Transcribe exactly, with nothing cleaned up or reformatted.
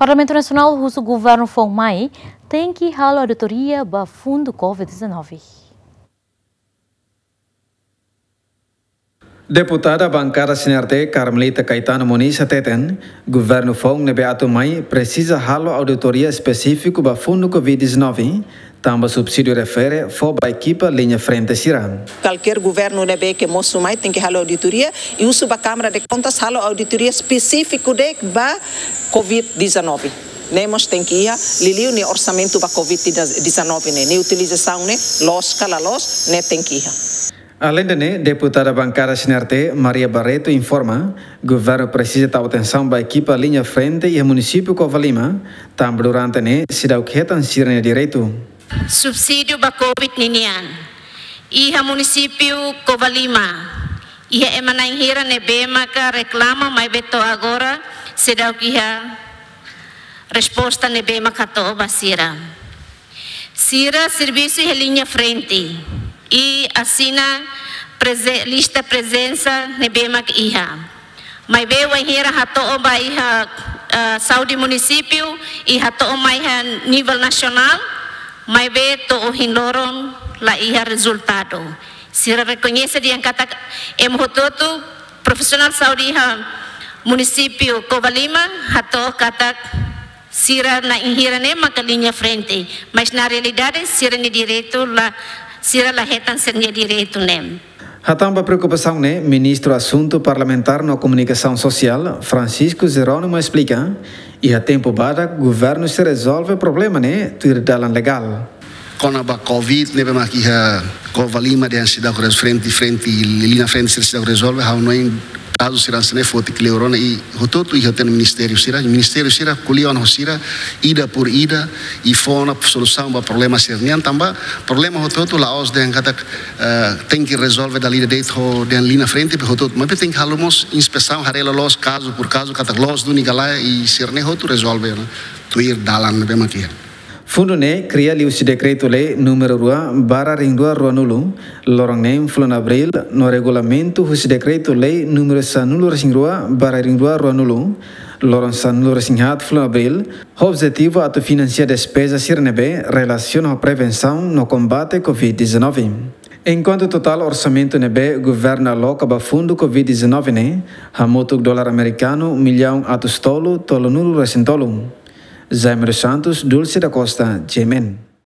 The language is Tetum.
Parlamentu Nasionál husu governu foun mai tenke halo auditoria ba fundu covid dezanove. Deputada bankada C N R T, Carmelita Caetano Moniz hateten, governu foun ne'ebé atu mai presiza halo auditoria espesífiku ba fundu covid dezanove, tanba subsídiu refere fó ba ekipa liña frente sira. Kualkér governu ne'ebé ke mosu mai tenke halo auditoria, i husu ba Câmara de Contas halo auditoria espesífiku de'it ba covid dezanove. Ne'e mós tenke iha, liuliu nia orsamentu ba covid dezanove ne'e, nia utilizasaun ne'e, loos ka la loos, ne'e tenke iha. Aleinde ne'e, deputada bankada C N R T, Maria Barreto, informa, governu presiza tau atensaun ba ekipa liña frente iha munisípiu Covalima, tanba durante ne'e seidauk hetan sira-nia direitu. Subsídiu ba covid ninian. Iha munisípiu Covalima, iha ema na'in hira ne'ebé maka reklama maibé to'o agora seidauk iha resposta ne'ebé maka hato'o ba sira. Sira servisu iha liña frente i asina preze-, lista prezensa ne'ebé maka iha. Maibé wainhira hato'o ba iha, eh, saúde munisípiu i hato'o mai iha nivel nasionál, maibé to'o ohin loron la iha rezultadu. Sira rekoñese dehan katak ema hotu-hotu profisionál saúde iha munisípiu Covalima hato'o katak sira na'in hira ne'e maka liña frente, mas na realidade sira-nia direitu la, sira la hetan sira-nia direitu ne'e. Hatán ba preokupasaun ne'e, Ministru Asuntu Parlamentár no Komunikasaun Sosiál, Francisco Jerónimo, esplika, iha tempu badak governu sei rezolve problema ne'e tuir dalan legál. Kona-ba covid ne'ebé mak iha Covalima dehan seidauk rezolve, frente, frente, liña frente sira seidauk rezolve, ha'u hanoin kazu sira hanesan ne'e foti kleur ona i hotu-hotu iha hotu-hotu ministériu sira, ministériu sira ko'alia ona ho sira, ida por ida, i fó ona solusaun ba problema sira-nian, tanba problema hotu-hotu la'ós dehan katak, eh, tenke rezolve dala ida de'it ho dehan liña frente, hotu-hotu, maibé tenke halo mós inspesaun, haree loloos kazu por kazu, katak loos duni ka lae, i sira-ne'e hotu rezolve ona tuir dalan ne'ebé mak iha. Fundu ne'e kria liuhusi Dekretu-Lei númeru rua barra rihun rua ruanulu, loron neen fulan Abríl, no regulamentu husi Dekretu-Lei númeru sanulu-resin-rua barra rihun rua ruanulu, loron sanulu-resin-haat fulan Abríl, ho objetivu atu finansia despeza sira ne'ebé relasiona ho prevensaun no kombate covid dezanove. Enkuantu totál orsamentu ne'ebé governu aloka ba fundu covid dezanove ne'e hamutuk dolar amerikanu millaun atus tolu, tolunulu-resin-tolu. Jaime dos Santos, Dulce da Costa, G M N.